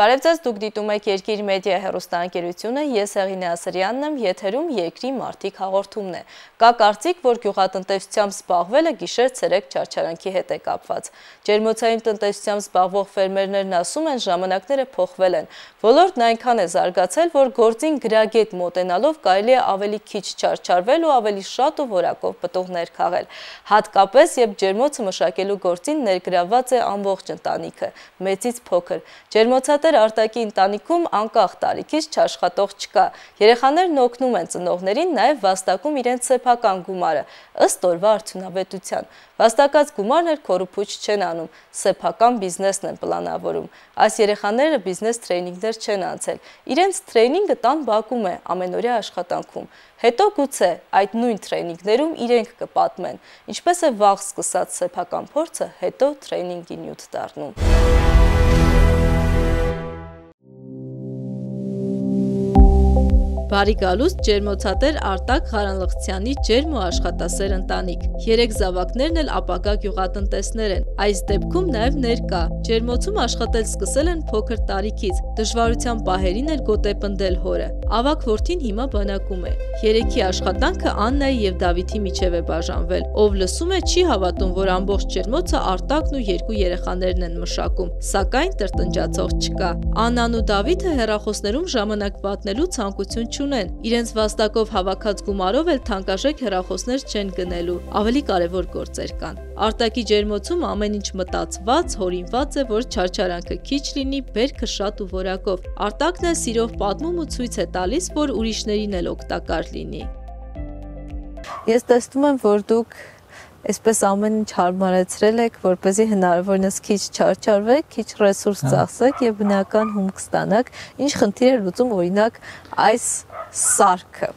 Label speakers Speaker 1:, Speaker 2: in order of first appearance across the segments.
Speaker 1: Բարև ձեզ, դուք դիտում եք Երկիր մեդիա հեռուստաընկերությունը, ես Հեղինե Ասրյանն եմ, եթերում Երկրի մարդիկ հաղորդումն է։ Կա կարծիք, որ գյուղատնտեսությամբ զբաղվելը գիշեր-ցերեկ չարչարանքի հետ է կապված։ Ջերմոցային տնտեսությամբ զբաղվող ֆերմերներն ասում են, ժամանակները փոխվել են։ Ոլորտն այնքան է զարգացել, որ գործին գրագետ մոտենալով կարելի է ավելի քիչ չարչարվել ու ավելի շատ ու որակով պտուղներ քաղել։ Հատկապես, երբ ջերմոցը մշակելու գործին ներգրավված է ամբողջ ընտանիքը, մեծից փոքր։ Ջերմոցատեր Արտակի ընտանիքում անկախ տարիքից չաշխատող չկա։ Երեխաներն օգնում են ծնողներին, նաև վաստակում իրենց սեփական գումարը, ըստ օրվա արդյունավետության։ Վաստակած գումարներ քորուփուչ չեն անում, սեփական բիզնեսն են պլանավորում։ Այս երեխաները բիզնես տրեյնինգներ չեն անցել։ Իրենց տրեյնինգը տան բակում է, ամենօրյա աշխատանքում։ Հետո գուցե այդ նույն տրեյնինգներում իրենք կպատմեն, ինչպես է վաղ սկսած սեփական փորձը հետո տրեյնինգի նյութ դառնում։ Բարի գալուստ ջերմոցատեր Արտակ Ղարանլխցյանի ջերմ ու աշխատասեր ընտանիք։ 3 զավակներն էլ ապագա գյուղատնտեսներ են։ Այս դեպքում նաև ներկա։ Ջերմոցում աշխատել սկսել են փոքր տարիքից։ Դժվարության պահերին էլ գոտեպնդել հորը։ Ավագ որդին հիմա բանակում է։ 3-ի աշխատանքը Աննայի եւ Դավիթի միջև է բաժանվել։ Ով լսում է, չի հավատում, որ ամբողջ ջերմոցը Արտակն ու 2 երեխաներն են մշակում։ Սակայն տրտնջացող չկա։ Աննան ու Դավիթը հեռախոսներում ժամանակ պատնելու ցանկություն չունեն, իրենց վաստակով հավաքած գումարով էլ թանկարժեք հեռախոսներ չեն գնելու, ավելի կարևոր գործեր կան։ Արտակի ջերմոցում ամեն ինչ մտածված, հորինված է, որ չարչարանքը քիչ լինի, բերքը շատ ու որակով։ Արտակն է սիրով պատմում ու ցույց է տալիս, որ ուրիշներին էլ օգտակար լինի։ Ես տեսնում եմ, որ դուք այսպես ամեն ինչ հարմարեցրել եք, որպեսզի հնարավորինս քիչ չարչարվեք, քիչ ռեսուրս ծախսեք եւ բնական հումք ստանաք։ Ինչ խնդիր է լուծում օրինակ այս սարքը։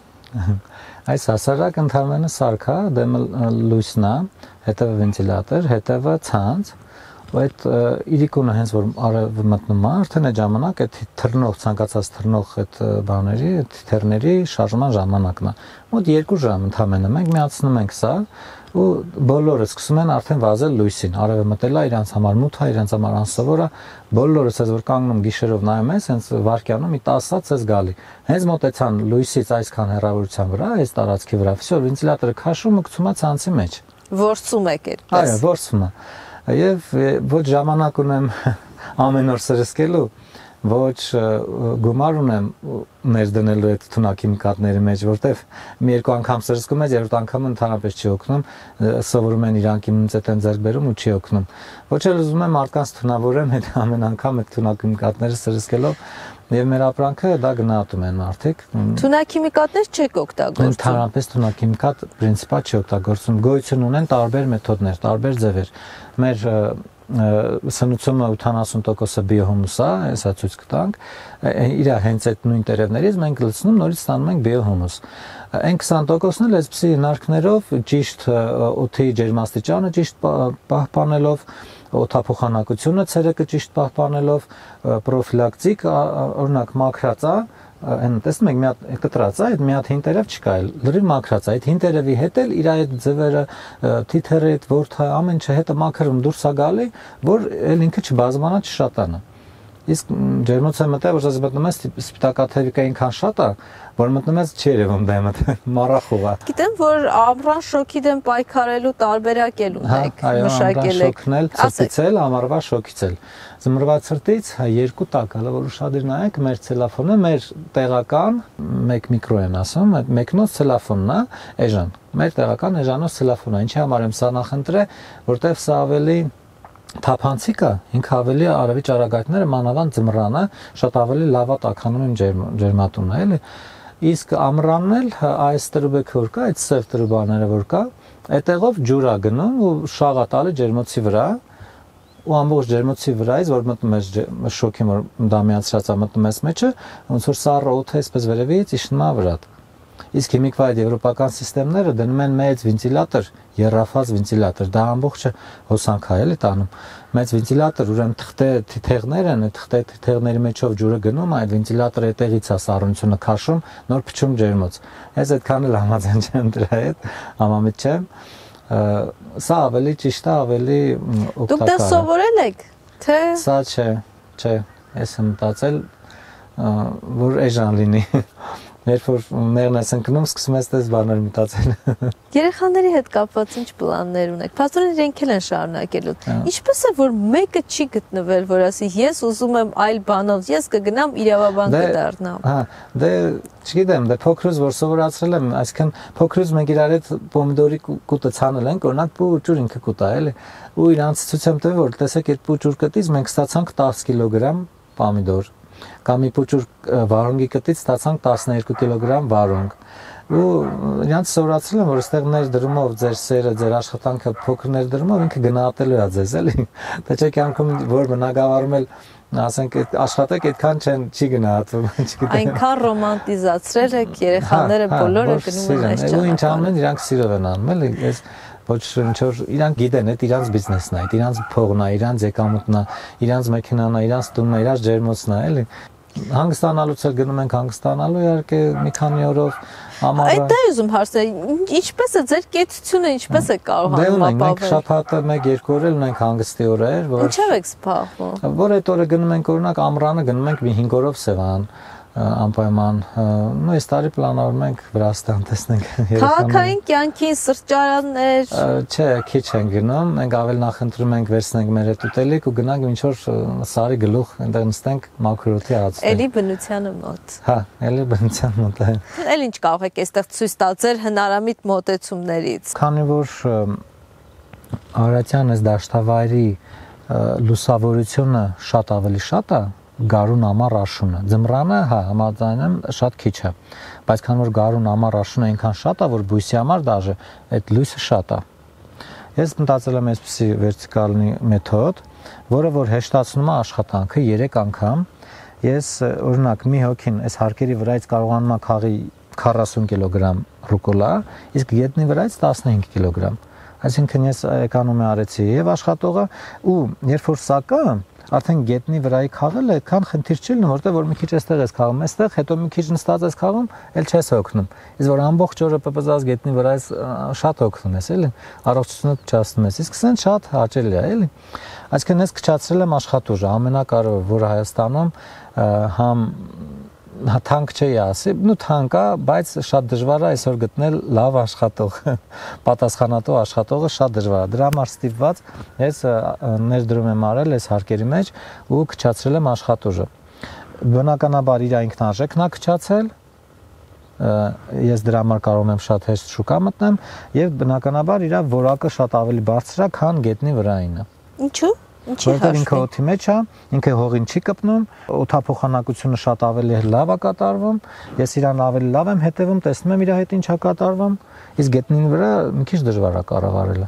Speaker 2: Այս հասարակ ընդհանրապես սարք է, դեմը լույսն է, հետևը վենտիլատոր, հետևը ցանց, ու այդ իրիկունը հենց որ արևը մտնում է, արդեն այդ ժամանակ այդ թռնող, ցանկացած թռնող այդ բաների, այդ թիթեռների շարժման ժամանակն է։ Մոտ 2 ժամ ընդհանրապես մենք միացնում ենք սա ու բոլորը սկսում են արդեն վազել լույսին, արևը մտել է, իրանց համար մութ է, իրանց համար անսովոր է, բոլորը ցած որ կանգնում գիշերով նայում ես, հենց վարկյանում մի 10-ից ես գալի։ Հենց մոտեցան լույսից այսքան հեռավորության վրա, այս տարածքի վրա, վсё, վենտիլատորը քաշում ու գցում է ցանցի մեջ։
Speaker 1: Որսում եք այդպես։
Speaker 2: Այո, որսում է։ Եվ ոչ ժամանակ ունեմ ամեն օր սրսկելու, ոչ գումար ունեմ ներդնելու այդ թունաքիմիկատների մեջ, որտեվ մի երկու անգամ սրսկում ես, երրորդ անգամ ընդհանրապես չի օգնում, սովորում են իրանք իմունիտետ են ձեռք բերում ու չի օգնում։ Ոչ էլ ուզում եմ մարդկանց թունավորեմ այդ ամեն անգամ այդ թունաքիմիկատները սրսկելով, եւ մեր ապրանքը դա գնահատում են մարդիկ։
Speaker 1: Թունաքիմիկատներ չեք օգտագործում։
Speaker 2: Ընդհանրապես թունաքիմիկատ պրինցիպա չի օգտագործում։ Գոյություն ունեն տարբեր մեթոդներ, տարբեր ձևեր։ Մեր սնուցումը 80% բիոհումուս է, հեսա ցույց կտանք։ Իր հենց այդ նույն տերևներից մենք լցնում, նորից ստանում ենք բիոհումուս։ Այն 20%-ն էլ այսպիսի հնարքներով ճիշտ օդի ջերմաստիճանը ճիշտ պահպանելով, օդափոխանակությունը ցերեկը ճիշտ պահպանելով, պրոֆիլակտիկ, օրինակ մաքրած է, այն տեսնում եք մի հատ կտրած է, այդ մի հատ հին տերև չկա, լրիվ մաքրած է, այդ հին տերևի հետ էլ իր այդ ձևերը, թիթերը, այդ ворթը, ամեն ինչը հետը մաքրում դուրս է գալի, որ էլ ինքը չբազմանա, չշատանա։ Իսկ ջերմոցը մտա, որ ասես մտնում ես սպիտակաթևիկը այնքան շատ է, որ մտնում ես չի երևում դեմը, մառախուղ է։
Speaker 1: Գիտեմ, որ ամռան շոկի դեմ պայքարելու տարբերակ էլ ունեք, մշակել եք։
Speaker 2: Շոկն էլ, ցրտից էլ, ամառվա շոկից էլ։ Զմռվա ցրտից 2 տակ, հələ որ ուշադիր նայեք, մեր ցելոֆոնը, մեր տեղական 1 միկրո են ասում, այդ մեկնոց ցելոֆոնն է, էժան։ Մեր տեղական էժանոց ցելոֆոնն է, ինչի համար եմ սա նախընտրել, որտեվ սա ավելի թափանցիկ է, ինքը ավելի արևի ճառագայթները մանավանդ ձմռանը շատ ավելի լավ է տաքանում են ջերմատունը, էլի։ Իսկ ամռանն էլ այս տրուբեքը որ կա, այդ սև տրուբաները որ կա, այդտեղով ջուր է գնում ու շաղ է տալի ջերմոցի վրա, ու ամբողջ ջերմոցի վրայից որ մտնում ես շոկին որ դա միացրած է մտնում ես մեջը, ոնց որ սառը օդը այսպես վերևից իջնում է վրա։ Իսկ հիմիկվա այդ եվրոպական համակարգները դնում են մեծ վենտիլատոր, երրաֆազ վենտիլատոր, դա ամբողջը հոսանք է էլի տանում։ Մեծ վենտիլատոր, ուրեմն թղթե թիթեղներ են, այդ թղթե թիթեղների մեջով ջուրը գնում, այդ վենտիլատորը այդտեղից է սառնությունը քաշում, նոր փչում ջերմոց։ Ես այդքան էլ համաձայն չեմ դրա հետ, համամիտ չեմ։ Սա ավելի ճիշտ է, ավելի օգտակար է։
Speaker 1: Դուք դա սովորել եք, թե։
Speaker 2: Սա չէ, չէ։ ես եմ մտածել, որ էժան լինի։ Երբ որ մեղն ես ընկնում, սկսում ես դες բաներ մտածել։
Speaker 1: Երեխաների հետ կապված ինչ պլաններ ունեք։ Փաստորեն իրենք էլ են շարունակելու։ Ինչպես է որ մեկը չի գտնվել, որ ասի ես ուզում եմ այլ բանով, ես կգնամ իրավաբան կդառնամ։
Speaker 2: Հա, դե չգիտեմ, դե փոքրուց որ սովորացրել եմ, այսինքն փոքրուց մենք իրար հետ պոմիդորի կուտը ցանել ենք, օրինակ պուճուր ինքը կուտա էլի։ Ու իրանց ցույց եմ տվել, որ տեսեք այդ պուճուր կտից մենք ստացանք 10 կիլոգրամ պոմիդոր։ Կամ մի պուճուր վարունգի կտից ստացանք 12 կիլոգրամ վարունգ։ Ու իրանց սովորացրել եմ, որ այստեղ ներդրումով ձեր սերը, ձեր աշխատանքը փոքր ներդրումով ինքը գնահատելու է ձեզ, էլի։ Դա չէ կյանքում որ բնակավարում էլ ասենք աշխատեք այդքան չի գնահատվում, չգիտեմ։
Speaker 1: Այնքան ռոմանտիզացրել եք, երեխաները բոլորը գնում են այս ճանապարհով։
Speaker 2: Ու ինչ անում են, իրանք սիրով են անում, էլի։ Այս ոչ ինչ որ իրանք գիտեն, այդ իրանց բիզնեսն է, այդ իրանց փողն է, իրանց եկամուտն է, իրանց մեքենան է, իրանց տունն է, իրանց ջերմոցն է, էլի։ Հանգստանալուց էլ գնում ենք հանգստանալու, իհարկե մի քանի օրով ամառը։
Speaker 1: Այդ դա ուզում հարցնել, ինչպես է ձեր կեցությունը, ինչպես է կարողանում ապահովել։
Speaker 2: Մենք շաբաթը 1-2 օր էլ ունենք հանգստի օրեր, որ
Speaker 1: Ինչով եք զբաղվում։
Speaker 2: Որ այդ օրը գնում ենք օրինակ ամռանը գնում ենք մի 5 օրով Սևան անպայման նույն այս տարի պլանավորում ենք Վրաստան տեսնենք
Speaker 1: Քաղաքային կյանքին սրճարաններ
Speaker 2: չէ քիչ են գնում մենք ավելի նախընտրում ենք վերցնենք մեր այդ ուտելիք ու գնանք ինչ որ սարի գլուխ այնտեղ նստենք մաքրոթի հացը
Speaker 1: էլի բնությանը մոտ
Speaker 2: հա էլի բնության մոտ է
Speaker 1: էլ ինչ կարող եք այստեղ ցույց տալ ձեր հնարամիտ մոտեցումներից
Speaker 2: քանի որ Արարատյան այս դաշտավայրի լուսավորությունը շատ ավելի շատ է Գարուն ամառ աշունը ձմռանը հա համաձայն եմ շատ քիչ է բայց քան որ գարուն ամառ աշունը այնքան շատ է որ բույսի համար դաժե այդ լույսը շատ է ես մտածել եմ այսպեսի վերտիկալնի մեթոդ որը որ հեշտացնում է աշխատանքը 3 անգամ ես օրինակ մի հոգին այս հարկերի վրայից կարողանում է քաղի 40 կիլոգրամ ռուկոլա իսկ գետնի վրայից 15 կիլոգրամ այսինքն ես էկոնոմիա արեցի եւ աշխատողը ու երբ որ սակը արդեն գետնի վրայի քաղելը այդքան խնդիր չի լինում, որտեղ որ մի քիչ էստեղ ես քաղում, այստեղ հետո մի քիչ նստած ես քաղում, էլ չես հոգնում։ Իսկ որ ամբողջ օրը պպզած գետնի վրայից շատ հոգնում ես, էլի, առողջությունդ փչացնում ես։ Իսկ սեն շատ հաճելի է, էլի։ Այսինքն ես քչացրել եմ աշխատուժը, ամենակարևորը, որ Հայաստանում համ թանկ չի ասի, նու թանկ է, բայց շատ դժվար է այսօր գտնել լավ աշխատող, պատասխանատու աշխատողը շատ դժվար է։ Դրա համար ստիպված ես ներդրում եմ արել այս հարկերի մեջ ու քչացրել եմ աշխատուժը։ Բնականաբար իր ինքնարժեքն է քչացել, ես դրա համար կարող եմ շատ հեշտ շուկա մտնեմ եւ բնականաբար իր որակը շատ ավելի բարձր է, քան գետնի վրայինը։
Speaker 1: Ինչու՞։
Speaker 2: Որտեղ ինքը օդի մեջ է, ինքը հողին չի կպնում, օդափոխանակությունը շատ ավելի լավ է կատարվում, ես իրան ավելի լավ եմ հետևում, տեսնում եմ իր հետ ինչ է կատարվում, իսկ գետնին վրա մի քիչ դժվար է կառավարելը։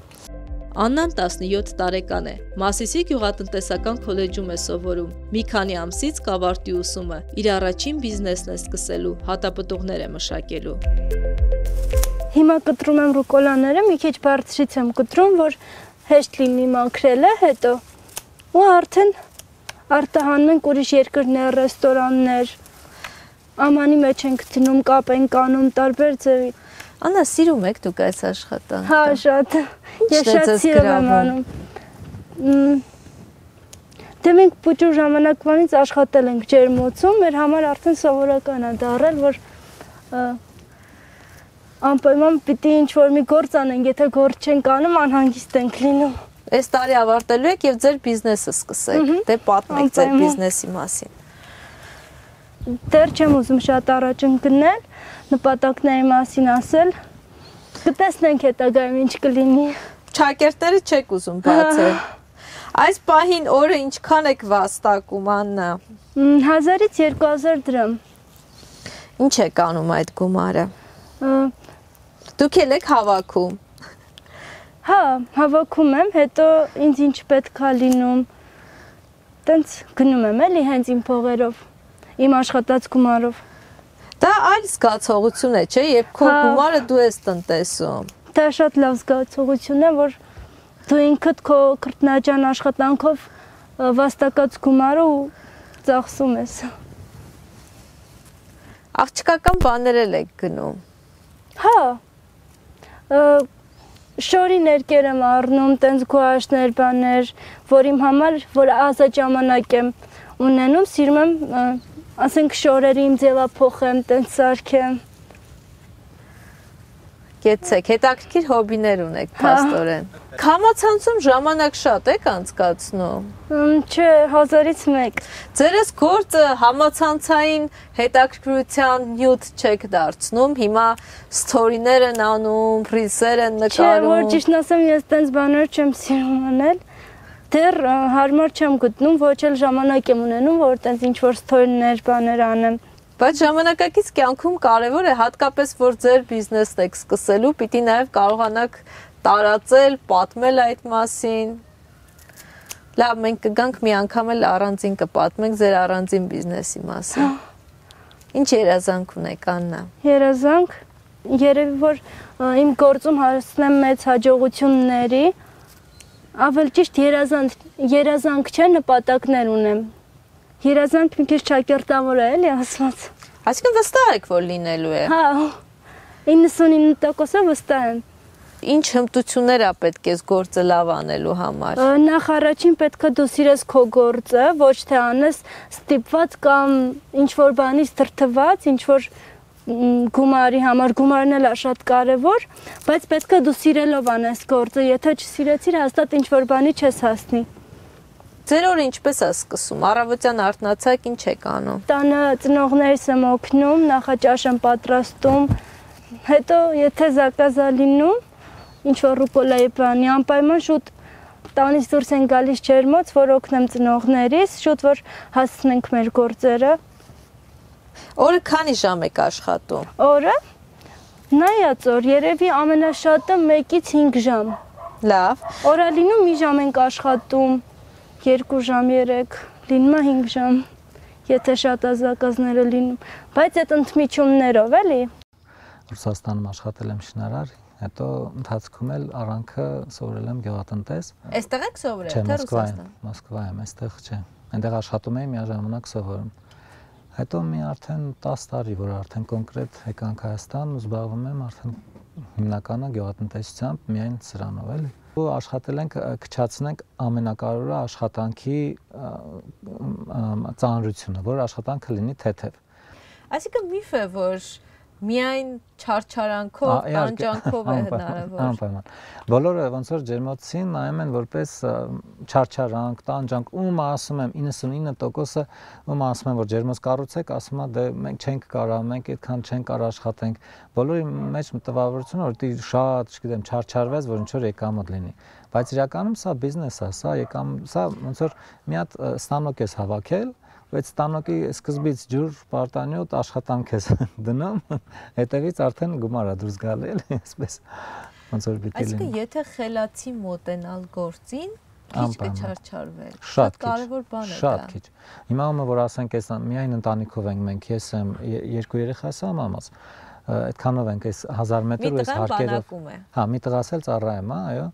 Speaker 1: Աննան 17 տարեկան է, Մասիսի գյուղատնտեսական քոլեջում է սովորում, մի քանի ամսից կավարտի ուսումը, իր առաջին բիզնեսն է սկսելու, հատապտուղներ է մշակելու։
Speaker 3: Հիմա կտրում եմ ռուկոլաները, մի քիչ բարձրից եմ կտրում, որ հեշտ լինի մաքրելը, հետո ու արդեն արտահանում ենք ուրիշ երկրներ, ռեստորաններ, ամանի մեջ ենք դնում, կապ ենք անում, տարբեր ձևի։
Speaker 1: Աննա, սիրում եք դուք այս աշխատանքը։
Speaker 3: Հա, շատ։ Ես շատ սիրում եմ անում։ Դե մենք փոքր ժամանակվանից աշխատել ենք ջերմոցում, մեր համար արդեն սովորական է դառել, որ անպայման պիտի ինչ-որ մի գործ անենք, եթե գործ չենք անում, անհանգիստ ենք լինում։
Speaker 1: Այս տարի ավարտելու եք եւ ձեր բիզնեսը սկսեք, դե պատմեք ձեր բիզնեսի մասին։
Speaker 3: Դեռ չեմ ուզում շատ առաջ ընկնել, նպատակների մասին ասել, կտեսնենք հետագայում ինչ կլինի։
Speaker 1: Ճակերտները չեք ուզում բացել։ Այս պահին օրը ինչքան եք վաստակում, Աննա։
Speaker 3: 1000-ից 2000 դրամ։
Speaker 1: Ինչ եք անում այդ գումարը։ Դուք եք հավաքում։
Speaker 3: Հա, հավաքում եմ, հետո ինձ ինչ պետք է լինում, տենց գնում եմ էլի հենց իմ փողերով, իմ աշխատած գումարով։
Speaker 1: Դա այլ զգացողություն է, չէ՞, երբ քո գումարը դու ես տնտեսում։
Speaker 3: Դա շատ լավ զգացողություն է, որ դու ինքդ քո քրտնաջան աշխատանքով վաստակած գումարը ու ծախսում ես։
Speaker 1: Աղջկական բաներ եք գնում։
Speaker 3: Հա, շորի ներկեր եմ առնում, տենց գուաշներ, բաներ, որ իմ համար, որ ազատ ժամանակ եմ ունենում, սիրում եմ, ասենք շորերի իմ ձևափոխեմ, տենց սարքեմ։
Speaker 1: Գեցեք, հետաքրքիր հոբիներ ունեք, փաստորեն։ Համացանցում ժամանակ շատ եք անցկացնում։
Speaker 3: Չէ, 1000-ից 1։
Speaker 1: Ձերս գործը համացանցային հետաքրքրության նյութ չեք դարձնում, հիմա սթորիներ են անում, ռիլսեր են նկարում։
Speaker 3: Չէ, որ ճիշտն ասեմ, ես տենց բաներ չեմ սիրում անել։ Դեռ հարմար չեմ գտնում, ոչ էլ ժամանակ եմ ունենում, որ տենց ինչ-որ սթորիներ, բաներ անեմ։
Speaker 1: Բայց ժամանակակից կյանքում կարևոր է հատկապես, որ ձեր բիզնեսն եք սկսելու, պիտի նաև կարողանաք տարածել, պատմել այդ մասին։ Լավ, մենք կգանք մի անգամ էլ առանձին կպատմենք ձեր առանձին բիզնեսի մասին։ Ինչ երազանք ունեք, Աննա։
Speaker 3: Երազանք, երևի որ իմ գործում հասնեմ մեծ հաջողությունների, ավելի ճիշտ երազանք չէ, նպատակներ ունեմ։ Երազանք մի քիչ ճակերտավոր է, էլի ասված։
Speaker 1: Այսինքն վստահ եք, որ լինելու է։
Speaker 3: Հա, 99% վստահ եմ։
Speaker 1: Ինչ հմտություններ է պետք է գործը լավ անելու համար։
Speaker 3: Նախ առաջին պետք է դու սիրես քո գործը, ոչ թե անես ստիպված կամ ինչ-որ բանից դրդված, ինչ-որ գումարի համար, գումարն էլ է շատ կարևոր, բայց պետք է դու սիրելով անես գործը, եթե չսիրեցիր, հաստատ ինչ-որ բանի չես հասնի։
Speaker 1: Ձեր օրը ինչպես է սկսում, առավոտյան արթնացաք, ինչ եք անում։
Speaker 3: Տանը ծնողներիս եմ օգնում, նախաճաշ եմ պատրաստում, հետո եթե զակազ է լինում, ինչ-որ ռուկոլայի բանի, անպայման շուտ տանից դուրս են գալիս ջերմոց, որ օգնեմ ծնողներիս, շուտ որ հասցնենք մեր գործերը։
Speaker 1: Օրը քանի ժամ եք աշխատում։
Speaker 3: Օրը նայած օր, երևի ամենաշատը 1-ից 5 ժամ։
Speaker 1: Լավ։
Speaker 3: Օրա լինում մի ժամ ենք աշխատում, 2 ժամ, 3, լինում է 5 ժամ, եթե շատ ազակազները լինում, բայց այդ ընդմիջումներով էլի։
Speaker 2: Ռուսաստանում աշխատել եմ շինարար, հետո ընթացքում էլ առանքը սովորել եմ գյուղատնտես։
Speaker 1: Այստեղ եք սովորել,
Speaker 2: թե
Speaker 1: Ռուսաստան։
Speaker 2: Մոսկվայում, այստեղ չէ։ Այնտեղ աշխատում էի, միաժամանակ սովորում։ Հետո մի արդեն 10 տարի, որ արդեն կոնկրետ եկանք Հայաստան ու զբաղվում եմ արդեն հիմնականը գյուղատնտեսությամբ, միայն սրանով էլի։ Ու աշխատել ենք քչացնենք ամենակարևորը աշխատանքի ծանրությունը, որ աշխատանքը լինի թեթև։
Speaker 1: Այսինքն միֆ է, որ միայն չարչարանքով, տանջանքով է հնարավոր։
Speaker 2: Անպայման։ Բոլորը ոնց որ ջերմոցին նայում են որպես չարչարանք, տանջանք, ում ասում եմ 99%-ը ում ասում են որ ջերմոց կառուցեք, ասում է դե մենք չենք կարա, մենք այդքան չենք կարող աշխատենք։ Բոլորի մեջ տվավորությունը որ դի շատ, չգիտեմ, չարչարվես, որ ինչ որ եկամուտ լինի։ Բայց իրականում սա բիզնես է, սա ոնց որ մի հատ ստանոկ ես հավաքել, բայց ստանոկի սկզբից ջուր, պարտանյութ, աշխատանք ես դնում, հետևից արդեն գումար է դուրս գալի, էլի, այսպես ոնց որ պիտի լինի։
Speaker 1: Այսինքն եթե խելացի մոտենալ գործին, քիչ կչարչարվել։
Speaker 2: Շատ
Speaker 1: կարևոր բան է դա։
Speaker 2: Շատ քիչ։ Հիմա ումը որ ասենք այս միայն ընտանիքով ենք մենք, ես եմ 2 երեխաս եմ ամաց, այդքանով ենք այս 1000 մետր ու այս հարկերով։ Հա, մի տղաս էլ ծառայում, այո։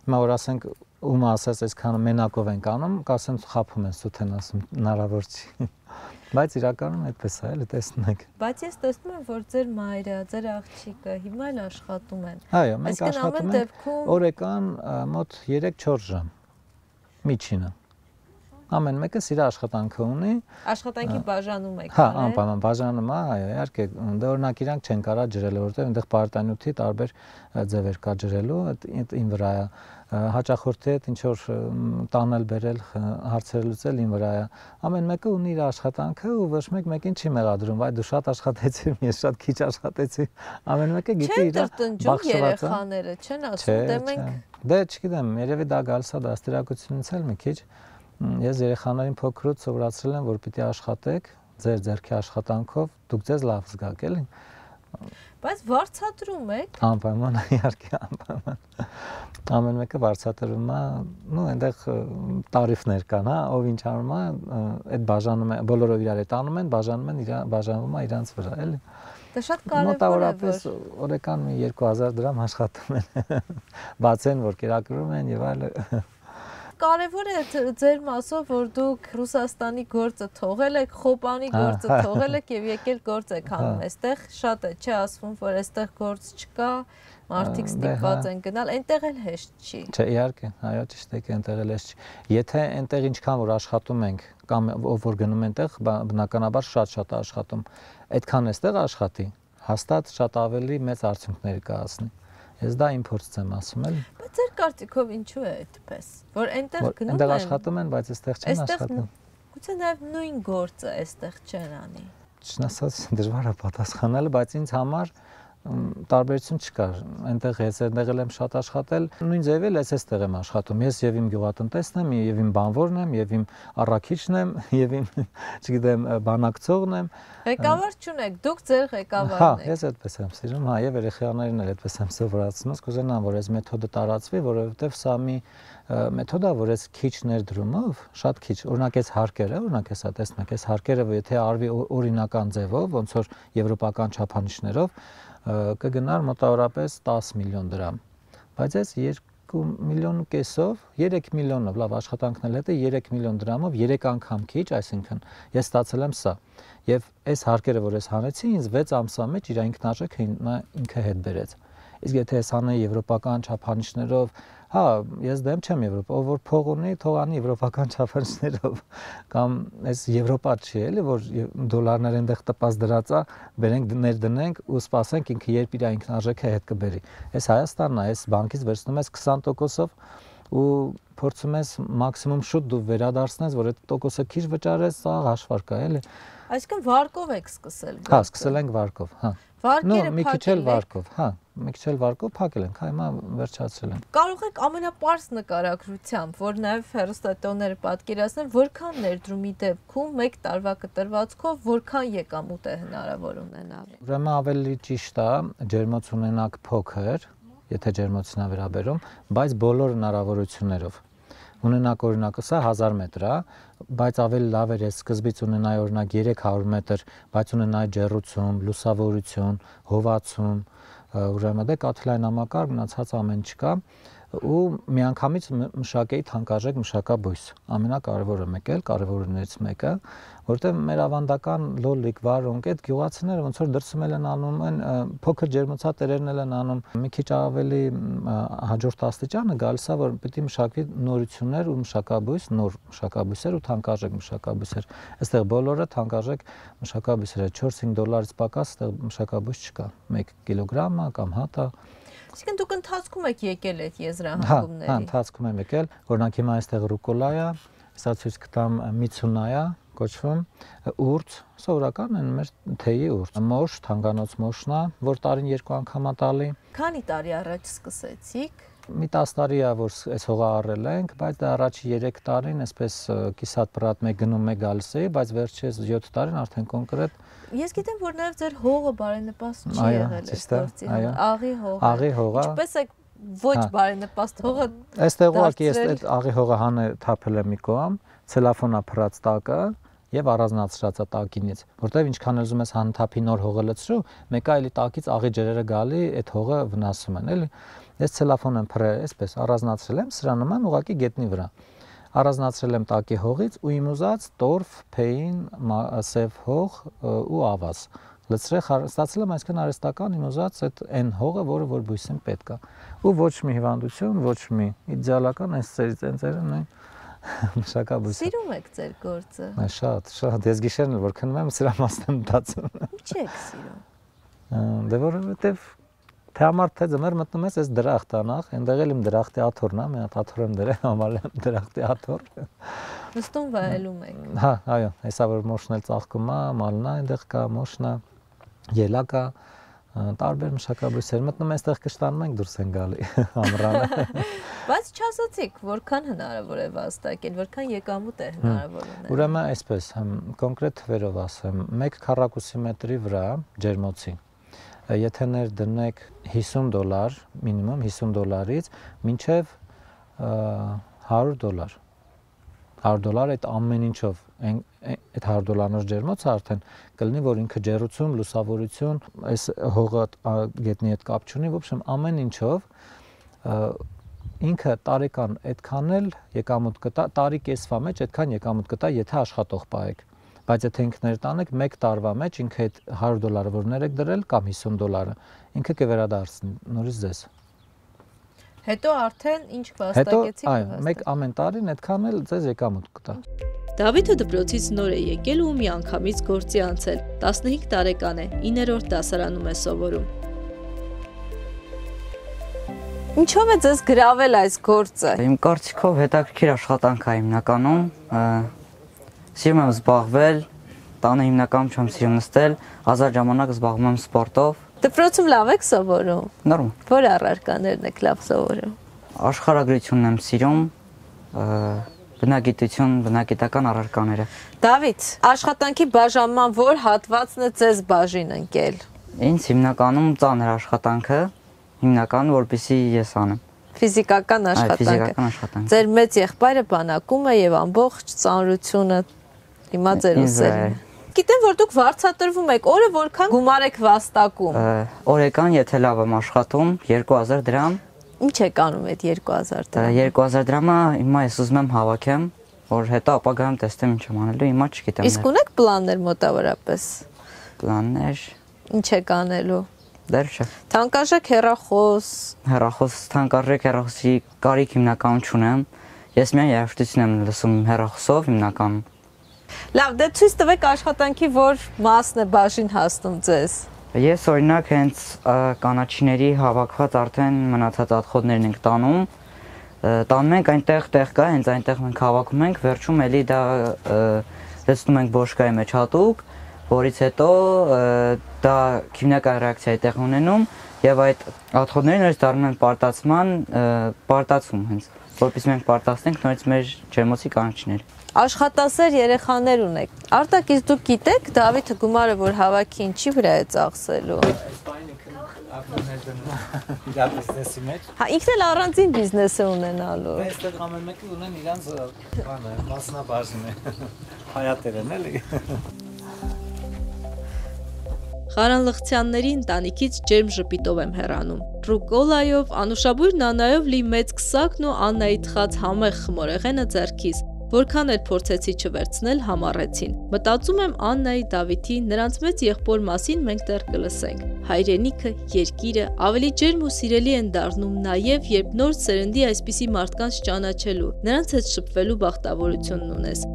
Speaker 2: Հիմա որ ասենք ում ասած այսքանը մենակով ենք անում, կասեմ խափում են սութեն ասում հնարավոր չի։ Բայց իրականում այդպես է, էլի տեսնեք։
Speaker 1: Բայց ես տեսնում եմ, որ ձեր մայրը, ձեր աղջիկը հիմա էլ աշխատում են։
Speaker 2: Այո, մենք աշխատում ենք օրական մոտ 3-4 ժամ միջինը։ Ամեն մեկը իր աշխատանքը ունի։
Speaker 1: Աշխատանքի բաժանում եք։
Speaker 2: Հա, անպայման բաժանում է, այո, իհարկե, դե օրինակ իրանք չեն կարա ջրել, որովհետև այնտեղ պարտանյութի տարբեր ձևեր կա ջրելու, այդ ին վրա է։ Հաճախորդի հետ ինչ որ տանել բերել հարցեր լուծել ին վրա է։ Ամեն մեկը ունի իր աշխատանքը ու ոչ մեկ մեկին չի մեղադրում, այ դու շատ աշխատեցիր, ես շատ քիչ աշխատեցի։ Ամեն մեկը գիտի իր
Speaker 1: բախշվածը։ Երեխաները չեն ասում, դե մենք
Speaker 2: դե չգիտեմ, երևի դա գալիս է դաստիարակությունից էլ մի քիչ։ Ես երեխաներին փոքրուց սովորացրել եմ, որ պիտի աշխատեք ձեր ձեռքի աշխատանքով, դուք ձեզ լավ զգաք, էլի։
Speaker 1: Բայց վարձատրում եք։
Speaker 2: Անպայման, իհարկե, անպայման։ Ամեն մեկը վարձատրում է, նո այնտեղ տարիֆներ կան, հա, ով ինչ անում է, այդ բաժանում է, բոլորով իրար հետ անում են, բաժանվում է իրանց վրա, էլի։
Speaker 1: Դա շատ կարևոր է,
Speaker 2: մոտավորապես օրական մի 2000 դրամ աշխատում են։ Բաց են, որ կերակրում են եւ այլն։
Speaker 1: կարևոր է ձեր մասով, որ դուք Ռուսաստանի գործը թողել եք, Խոպանի գործը թողել եք եւ եկել գործ եք անում այստեղ, շատ է, չէ՞ ասվում, որ այստեղ գործ չկա, մարդիկ ստիպված են գնալ, այնտեղ էլ հեշտ չի։
Speaker 2: Չէ, իհարկե, այո, ճիշտ է, այնտեղ էլ հեշտ չի։ Եթե այնտեղ ինչքան որ աշխատում ենք, կամ ով որ գնում այնտեղ, բնականաբար շատ աշխատում, այդքան էստեղ աշխատի, հաստատ շատ ավելի մեծ արդյունքներ կհասնի։ Ես դա իմ փորձից եմ ասում էլ։
Speaker 1: Բայց ձեր կարծիքով ինչու է այդպես, որ այնտեղ գնում են։
Speaker 2: Այնտեղ աշխատում են, բայց այստեղ չեն աշխատում։
Speaker 1: Գուցե նաև նույն գործը այստեղ չեն անի։
Speaker 2: Չնասած դժվար է պատասխանել, բայց ինձ համար տարբերություն չկար։ Այնտեղ ես այնտեղ եմ շատ աշխատել, նույն ձևի էլ այստեղ եմ աշխատում։ Ես եւ իմ գյուղատնտեսն եմ, եւ իմ բանվորն եմ, եւ իմ առաքիչն եմ, եւ իմ, չգիտեմ, բանակցողն եմ։
Speaker 1: Ղեկավար չունեք, դուք ձեր ղեկավարն եք։
Speaker 2: Հա, ես այդպես եմ սիրում, հա, եւ երեխաներին էլ այդպես եմ սովորացնում, կուզենամ, որ այս մեթոդը տարածվի, որովհետեւ սա մի մեթոդ է, որ այս քիչ ներդրումով, շատ քիչ, օրինակ այս հարկերը, օրինակ հեսա տեսնեք, այս հարկերը, եթե արվի օրինական ձևով, ոնց որ եվրոպական չափանիշներով, կգնար մոտավորապես 10 միլիոն դրամ։ Բայց այս 2 միլիոն կեսով, 3 միլիոնով, լավ աշխատանքն էլ հետը 3 միլիոն դրամով 3 անգամ քիչ, այսինքն ես ստացել եմ սա։ Եվ այս հարկերը, որ ես հանեցի, ինձ 6 ամսվա մեջ իր ինքնարժեքը ինքը հետ բերեց։ Իսկ եթե ես անեի եվրոպական չափանիշներով, հա, ես դեմ չեմ Եվրոպա, ով որ փող ունի, թող անի եվրոպական չափանիշներով, կամ այս Եվրոպա չի էլի, որ դոլարներ այնտեղ տպած դրած է, բերենք ներդնենք ու սպասենք ինքը երբ իր ինքնարժեքը հետ կբերի։ Այս Հայաստանն է, այս բանկից վերցնում ես 20%-ով ու փորձում ես մաքսիմում շուտ դու վերադարձնես, որ այդ տոկոսը քիչ վճարես, սա հաշվարկ է, էլի։
Speaker 1: Այսինքն վարկով եք սկսել։
Speaker 2: Հա, սկսել ենք վարկով, հա։
Speaker 1: Վարկերը
Speaker 2: մի քիչ էլ վարկով, հա, մի քիչ էլ վարկով փակել ենք, հիմա վերջացրել ենք։
Speaker 1: Կարող եք ամենապարզ նկարագրությամբ, որ նաև հեռուստատոները պատկերացնեն, որքան ներդրումի դեպքում մեկ տարվա կտրվածքով որքան եկամուտ է հնարավոր ունենալ։
Speaker 2: Ուրեմն ավելի ճիշտ է ջերմոց ունենաք փոքր, եթե ջերմոցին է վերաբերում, բայց բոլոր հնարավորություններով։ Ունենակ օրինակ սա 1000 մետր է, բայց ավելի լավ էր սկզբից ունենայի օրինակ 300 մետր, բայց ունենայի ջեռուցում, լուսավորություն, հովացում, ուրեմն դե կաթիլային մնացած ամեն չկա ու միանգամից մշակեի թանկարժեք մշակաբույս։ Ամենակարևորը մեկ էլ, կարևորներից մեկը, որտեղ մեր ավանդական լոլիկ, վարունգ, այդ գյուղացիները ոնց որ դրսում են անում են, փոքր ջերմոցատերերն են անում, մի քիչ ավելի հաջորդ աստիճանը գալիս է, որ պետք է մշակվի նորություններ ու մշակաբույս, նոր մշակաբույսեր ու թանկարժեք մշակաբույսեր։ Այստեղ բոլորը թանկարժեք մշակաբույսեր է, 4-5 դոլարից պակաս այստեղ մշակաբույս չկա, 1 կիլոգրամը կամ հատը։
Speaker 1: Այսինքն դուք ընթացքում եք եկել այդ եզրահանգումների։
Speaker 2: Հա, ընթացքում եմ եկել, օրինակ հիմա այստեղ ռուկոլա է, սա ցույց կտամ միցունա կոչվում, ուրց, սովորական են մեր թեյի ուրց, մոշ, թանգանոց մոշն է, որ տարին 2 անգամ է տալի։
Speaker 1: Քանի տարի առաջ սկսեցիք։
Speaker 2: Մի 10 տարի է, որ այս հողը առել ենք, բայց դա առաջի 3 տարին այսպես կիսատ պրատ մեկ գնում մեկ գալիս էի, բայց վերջերս 7 տարին արդեն կոնկրետ։
Speaker 1: Ես գիտեմ, որ նաև ձեր հողը բարենպաստ չի եղել այս գործի համար, աղի հողը։
Speaker 2: Աղի հողը։
Speaker 1: Ինչպես է ոչ բարենպաստ հողը։
Speaker 2: Այստեղ ուղղակի ես այդ աղի հողը հանը թափել եմ մի կողմ, ցելոֆոնա փռած տակը եւ առանձնացրած է տակինից, որտեվ ինչքան ուզում ես հանթափի նոր հողը լցրու, մեկը էլի տակից աղի ջրերը գալի, այդ հողը վնասում են, էլի։ Ես ցելոֆոն եմ փռել, այսպես առանձնացրել եմ սրա նման ուղղակի գետնի վրա։ Առանձնացրել եմ տակի հողից ու իմ ուզած տորֆ, փեին, սև հող ու ավազ։ Լցրել ստացել եմ այսքան արհեստական իմ ուզած այդ այն հողը, որը որ բույսին պետք է։ Ու ոչ մի հիվանդություն, ոչ մի իդեալական այս ծերից են մշակաբույսը։
Speaker 1: Սիրում եք ձեր գործը։
Speaker 2: Շատ, ես գիշերն էլ որ քնում եմ սրա մասն եմ մտածում։
Speaker 1: Ինչ եք սիրում։
Speaker 2: Դե որովհետև թե համար թե ձմեռ մտնում ես այս դրախտ անախ, այնտեղ էլ իմ դրախտի աթոռն է, մի հատ աթոռ եմ դրել, համարել եմ դրախտի աթոռ։
Speaker 1: Նստում վայելում եք։
Speaker 2: Հա, այո, հեսա որ մոշն էլ ծաղկում է, մալն է, այնտեղ կա մոշն է, ելակ է, տարբեր մշակաբույսեր մտնում այստեղ կշտանում ենք դուրս են գալի ամռանը։
Speaker 1: Բայց չասացիք, որքան հնարավոր է վաստակել, որքան եկամուտ է հնարավոր ունել։
Speaker 2: Ուրեմն այսպես, կոնկրետ թվերով ասեմ, 1 քառակուսի մետրի վրա ջերմոցի եթե ներդնեք $50, մինիմում $50-ից մինչև $100։ $100 այդ ամեն ինչով, այդ $100 ջերմոցը արդեն կլինի, որ ինքը ջեռուցում, լուսավորություն, այս հողը գետնի հետ կապ չունի, ոբշեմ ամեն ինչով ինքը տարեկան այդքան էլ եկամուտ կտա, տարի կեսվա մեջ այդքան եկամուտ կտա, եթե աշխատող պահեք։ Բայց եթե ինքը ներտանեք 1 տարվա մեջ ինքը այդ $100 որ ներեք դրել կամ $50 ինքը կվերադարձնի նորից ձեզ։
Speaker 1: Հետո արդեն ինչ վաստակեցիք։
Speaker 2: Այո, մեկ ամեն տարին այդքան էլ ձեզ եկամուտ կտա։
Speaker 1: Դավիթը դպրոցից նոր է եկել ու մի անգամից գործի անցել։ 15 տարեկան է, 9-րդ դասարանում է սովորում։ Ինչով է ձեզ գրավել այս գործը։
Speaker 4: Իմ կարծիքով հետաքրքիր աշխատանք է հիմնականում, սիրում եմ զբաղվել, տանը հիմնականում չեմ սիրում նստել, ազատ ժամանակ զբաղվում եմ սպորտով։
Speaker 1: Դպրոցում լավ եք սովորում։
Speaker 4: Նորմալ։
Speaker 1: Որ առարկաներն եք լավ սովորում։
Speaker 4: Աշխարհագրությունն եմ սիրում, բնագիտություն, բնագիտական առարկաները։
Speaker 1: Դավիթ, աշխատանքի բաժանման որ հատվածն է ձեզ բաժին ընկել։
Speaker 4: Ինձ հիմնականում ծանր աշխատանքը, հիմնականում որպեսզի ես անեմ։
Speaker 1: Ֆիզիկական աշխատանքը։
Speaker 4: Ֆիզիկական աշխատանք։
Speaker 1: Ձեր մեծ եղբայրը բանակում է եւ ամբողջ ծանրությունը հիմա ձեր ուսերն։ Գիտեմ, որ դուք վարձատրվում եք, օրը որքան գումար եք վաստակում։
Speaker 4: Օրեկան, եթե լավ եմ աշխատում, 2000 դրամ։
Speaker 1: Ինչ եք անում այդ 2000 դրամը։
Speaker 4: 2000 դրամը հիմա ես ուզում եմ հավաքեմ, որ հետո ապագայում տեսնեմ ինչ եմ անելու, հիմա չգիտեմ։
Speaker 1: Իսկ ունեք պլաններ մոտավորապես։
Speaker 4: Պլաններ։
Speaker 1: Ինչ եք անելու։
Speaker 4: Դեռ չէ։
Speaker 1: Թանկարժեք հեռախոս։
Speaker 4: Թանկարժեք հեռախոսի կարիք հիմնականում չունեմ։ Ես միայն երաժշտություն եմ լսում հեռախոսով հիմնականում։
Speaker 1: Լավ, դե ցույց տվեք աշխատանքի որ մասն է բաժին հասնում ձեզ։
Speaker 4: Ես օրինակ հենց կանաչիների հավաքված արդեն մնացած ատխոդներն ենք տանում։ Տանում ենք այնտեղ տեղ կա, հենց այնտեղ մենք հավաքում ենք, վերջում էլի դա լցնում ենք բոշկայի մեջ հատուկ, որից հետո դա քիմիական ռեակցիա է տեղ ունենում եւ այդ ատխոդները նորից դառնում են պարտացում հենց, որպես մենք պարտացնենք նորից մեր ջերմոցի կանաչիները։
Speaker 1: Աշխատասեր երեխաներ ունեք։ Արտակ, իսկ դուք գիտեք Դավիթը գումարը որ հավաքի ինչի վրա է ծախսելու։
Speaker 2: Իրա բիզնեսի մեջ։
Speaker 1: Հա, ինքն էլ առանձին բիզնես է ունենալու։
Speaker 2: Այստեղ ամեն մեկը ունեն իրանց բանը, մասնաբաժին է։ Հայատերն էլի։
Speaker 1: Ղարանլղցյանների ընտանիքից ջերմ ժպիտով եմ հեռանում։ Ռուկոլայով, անուշաբույր նանայով լի մեծ քսակն ու Աննայի թխած համեղ խմորեղենը ձեռքիս։ Որքան էլ փորձեցի չվերցնել, համառեցին։ Մտածում եմ Աննայի, Դավիթի, նրանց մեծ եղբոր մասին մենք դեռ կլսենք։ Հայրենիքը, երկիրը ավելի ջերմ ու սիրելի են դառնում նաև, երբ նոր սերնդի այսպիսի մարդկանց ճանաչելու, նրանց հետ շփվելու բախտավորությունն ունես։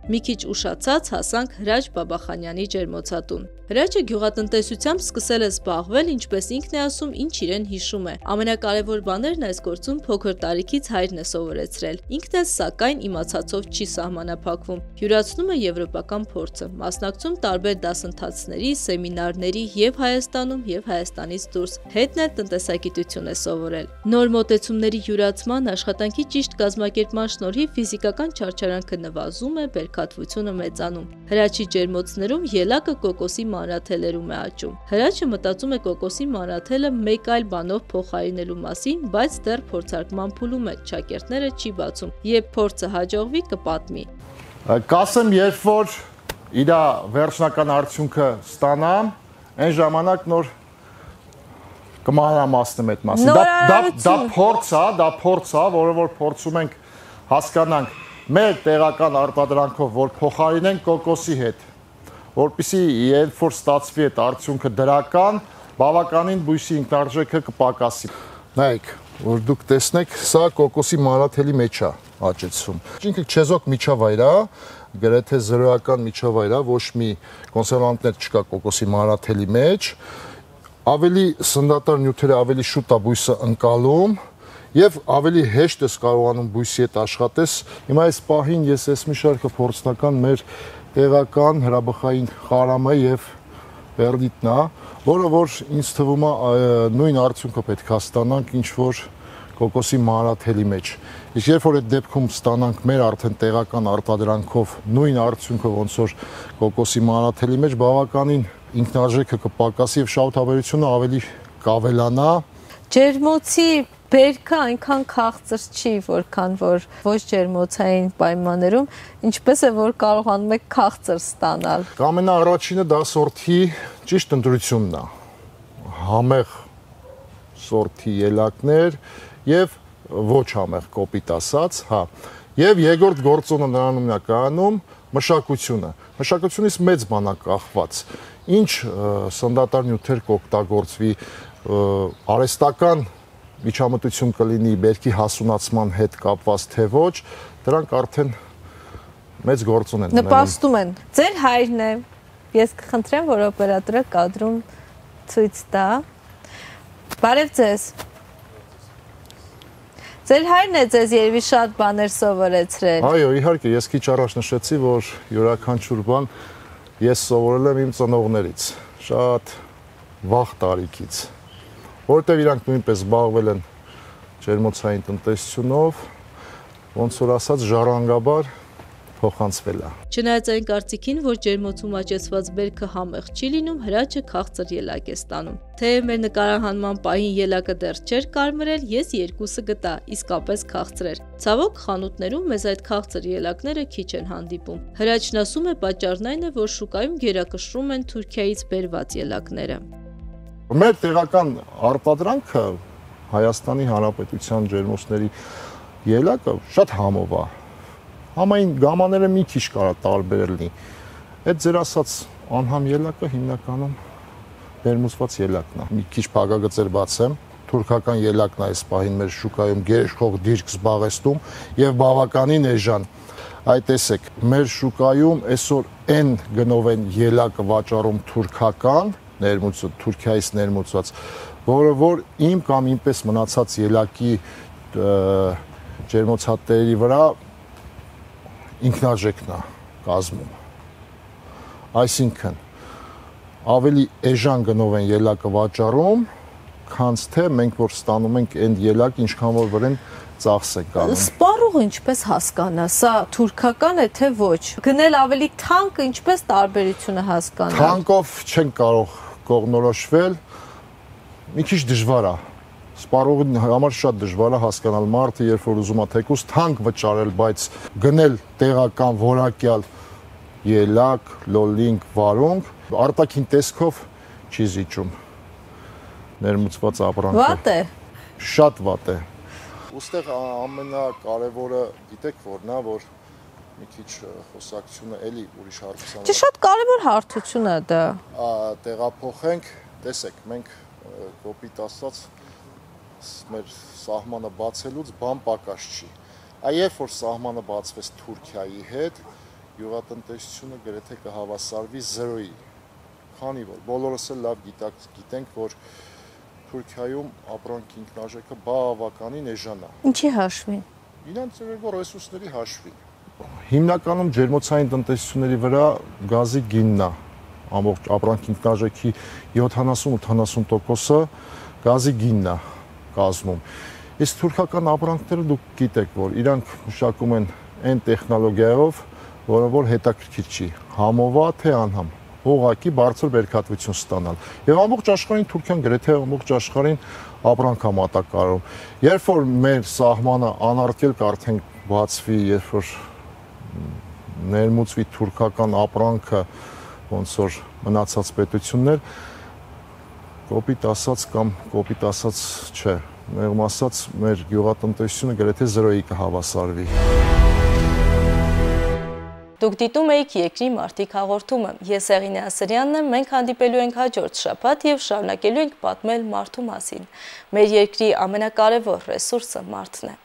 Speaker 1: Մի քիչ ուշացած հասանք Հրաչ Բաբախանյանի ջերմոցատուն։ Հրաչը գյուղատնտեսությամբ սկսել է զբաղվել, ինչպես ինքն է ասում, ինչ իրեն հիշում է։ Ամենակարևոր բաներն այս գործում փոքր տարիքից հայրն է սովորեցրել։ Ինքն էլ սակայն իմացածով չի սահմանափակվում։ Յուրացնում է եվրոպական փորձը, մասնակցում տարբեր դասընթացների, սեմինարների եւ Հայաստանում եւ Հայաստանից դուրս։ Հետն էլ տնտեսագիտություն է սովորել։ Նոր մոտեցումների յուրացման, աշխատանքի ճիշտ կազմակերպման շնորհիվ ֆիզիկական չարչարանքը նվազում է, բերքատվությունը մեծանում։ Հրաչի ջերմոցներում ելակը կոկոսի մանրաթելերում է աճում։ Հրաչը մտածում է կոկոսի մանրաթելը մեկ այլ բանով փոխարինելու մասին, բայց դեռ փորձարկման փուլում է, շակերտները չի բացում։ Երբ փորձը հաջողվի, կպատմի։
Speaker 5: Կասեմ, երբ որ իր վերջնական արդյունքը ստանամ, այն ժամանակ նոր կմանրամասնեմ այդ մասին։ Դա փորձ է, որը որ փորձում ենք հասկանանք մեր տեղական արտադրանքով, որ փոխարինենք կոկոսի հետ, որպեսզի երբ որ ստացվի այդ արդյունքը դրական, բավականին բույսի ինքնարժեքը կպակասի։ Նայեք, որ դուք տեսնեք, սա կոկոսի մանրաթելի մեջ է աճեցվում։ Ինքը չեզոք միջավայր է, գրեթե զրոյական միջավայր է, ոչ մի կոնսերվանտներ չկա կոկոսի մանրաթելի մեջ, ավելի սննդատար նյութերը ավելի շուտ է բույսը ընկալում եւ ավելի հեշտ ես կարողանում բույսի հետ աշխատես։ Հիմա այս պահին ես այս մի շարքը փորձնական մեր տեղական հրաբխային խարամը եւ բերդիտն է, որը որ ինձ թվում է նույն արդյունքը պետք է ստանանք ինչ որ կոկոսի մանրաթելի մեջ։ Իսկ երբ որ այդ դեպքում ստանանք մեր արդեն տեղական արտադրանքով նույն արդյունքը ոնց որ կոկոսի մանրաթելի մեջ, բավականին ինքնարժեքը կպակասի եւ շահութաբերությունը ավելի կավելանա։
Speaker 1: Ջերմոցի բերքը այնքան քաղցր չի, որքան որ ոչ ջերմոցային պայմաններում, ինչպես է որ կարողանում եք քաղցր ստանալ։
Speaker 5: Ամենաառաջինը դա սորտի ճիշտ ընտրությունն է։ համեղ սորտի ելակներ եւ ոչ համեղ կոպիտ ասած, հա։ Եվ երկրորդ գործոնը նրանում է կայանում մշակությունը։ Մշակությունից մեծ բան է կախված։ Ինչ սննդատար նյութեր կօգտագործվի, արհեստական միջամտություն կլինի բերքի հասունացման հետ կապված թե ոչ, դրանք արդեն մեծ գործոն են ունենում։
Speaker 1: Նպաստում են։ Ձեր հայրն է։ Ես կխնդրեմ, որ օպերատորը կադրում ցույց տա։ Բարև ձեզ։ Ձեր հայրն է ձեզ երևի շատ բաներ սովորեցրել։
Speaker 5: Այո, իհարկե, ես քիչ առաջ նշեցի, որ յուրաքանչյուր բան ես սովորել եմ իմ ծնողներից, շատ վաղ տարիքից, որտեղ իրանք նույնպես զբաղվել են ջերմոցային տնտեսությունով, ոնց որ ասած ժառանգաբար փոխանցվել է։
Speaker 1: Չնայած այն կարծիքին, որ ջերմոցում աճեցված բերքը համեղ չի լինում, հրաչը քաղցր ելակ է ստանում։ Թեև մեր նկարահանման պահին ելակը դեռ չէր կարմրել, ես երկուսը գտա, իսկապես քաղցր էր։ Ցավոք, խանութներում մեզ այդ քաղցր ելակները քիչ են հանդիպում։ Հրաչն ասում է, պատճառն այն է, որ շուկայում գերակշռում են Թուրքիայից բերված ելակները։
Speaker 5: Մեր տեղական արտադրանքը Հայաստանի Հանրապետության ջերմոցների ելակը շատ համով է։ Համային գամաները մի քիչ կարա տարբեր լինի։ Այդ ձեր ասած անհամ ելակը հիմնականում ներմուծված ելակն է։ Մի քիչ փակագծեր բացեմ, թուրքական ելակն է այս պահին մեր շուկայում գերիշխող դիրք զբաղեցնում եւ բավականին էժան։ Այ տեսեք, մեր շուկայում այսօր N գնով են ելակը վաճառում թուրքական, Թուրքիայից ներմուծված, որը որ իմ կամ ինպես մնացած ելակի ջերմոցատերերի վրա ինքնարժեքն է կազմում։ Այսինքն ավելի էժան գնով են ելակը վաճառում, քան թե մենք որ ստանում ենք այն ելակ, ինչքան որ վրան ծախս է կանում։
Speaker 1: Սպառողը ինչպես հասկանա, սա թուրքական է թե ոչ։ Գնել ավելի թանկ, ինչպես տարբերությունը հասկանալ։
Speaker 5: Թանկով չեն կարող կողմնորոշվել, մի քիչ դժվար է։ Սպառողի համար շատ դժվար է հասկանալ մարդը, երբ որ ուզում է թեկուզ թանկ վճարել, բայց գնել տեղական որակյալ ելակ, լոլինգ, վարունգ, արտաքին տեսքով չի զիջում ներմուծված ապրանքը։
Speaker 1: Վատ է։
Speaker 5: Շատ վատ է։ Ոստեղ ամենակարևորը գիտեք որն է, որ մի քիչ խոսակցությունը էլի ուրիշ հարցանա։
Speaker 1: Չէ, շատ կարևոր հարթություն է դա։
Speaker 5: Տեղափոխենք, տեսեք, մենք կոպիտ ասած մեր սահմանը բացելուց բան պակաս չի։ Այև որ սահմանը բացվեց Թուրքիայի հետ, յուղատնտեսությունը գրեթե կհավասարվի 0-ի։ Քանի որ բոլորս էլ լավ գիտենք, որ Թուրքիայում ապրանքի ինքնարժեքը բավականին էժան է։
Speaker 1: Ինչի հաշվին։
Speaker 5: Իրանց ռեսուրսների հաշվին։ Հիմնականում ջերմոցային տնտեսությունների վրա գազի գինն է։ Ամբողջ ապրանքի ինքնարժեքի 70-80%-ը գազի գինն է կազմում։ Իսկ թուրքական ապրանքները դուք գիտեք, որ իրանք մշակում են այն տեխնոլոգիայով, որը որ հետաքրքիր չի, համովա թե անհամ, ուղղակի բարձր բերքատվություն ստանալ։ Եվ ամբողջ աշխարհին Թուրքիան գրեթե ամբողջ աշխարհին ապրանք է մատակարարում։ Երբ որ մեր սահմանը անարգելք արդեն բացվի, երբ որ ներմուծվի թուրքական ապրանքը, ոնց որ մնացած պետություններ, կոպիտ ասած կամ կոպիտ ասած չէ, մեղմ ասած մեր գյուղատնտեսությունը գրեթե 0-ի կհավասարվի։
Speaker 1: Դուք դիտում եք Երկրի մարդիկ հաղորդումը։ Ես Եղինե Ասրյանն եմ, մենք հանդիպելու ենք հաջորդ շաբաթ եւ շարունակելու ենք պատմել մարդու մասին։ Մեր երկրի ամենակարևոր ռեսուրսը մարդն է։